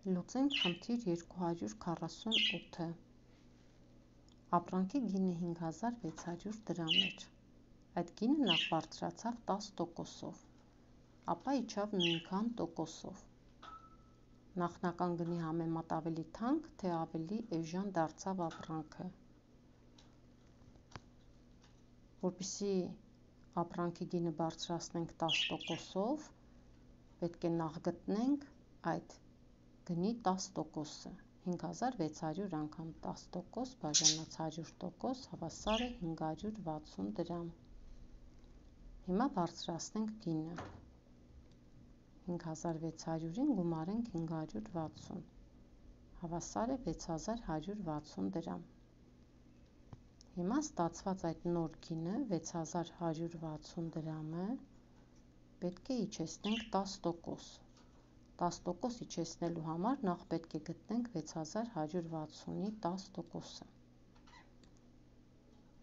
Լուծենք խնդիր 248-ը։ Ապրանքի գինը 5600 դրամ էր։ Այդ գինը նախ բարձրացավ 10%-ով, ապա իջավ նույնքան տոկոսով։ Նախնական գնի համեմատ ավելի թանկ, թե ավելի էժան դարձավ ապրանքը։ Որպեսզի ապրանքի գինը բարձրացնենք 10%-ով, պետք է նախ գտնենք այդ գնի 10%-ը, 5600 անգամ 10% բաժանած 100% հավասար է 560 դրամ։ Հիմա բարձրացնենք գինը, 5600-ին գումարենք 560, հավասար է 6160 դրամ։ Հիմա ստացված այդ նոր գինը 6160 դրամը պետք է իջեցնենք 10%։ 10% իջեցնելու համար նախ պետք է գտնենք 6160-ի 10%-ը։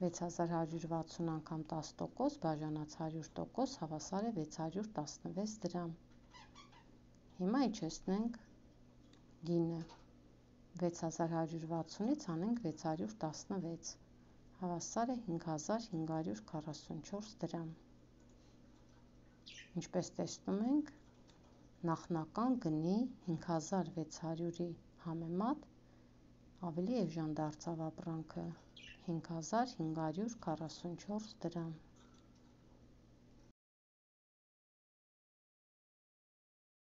6160 անգամ 10% բաժանած 100% հավասար է 616 դրամ։ Հիմա իջեցնենք գինը, 6160-ից անենք 616, հավասար է 5544 դրամ։ Ինչպես տեսնում ենք, նախնական գնի 5600-ի համեմատ ավելի էժան դարձավ ապրանքը, 5544 դրամ։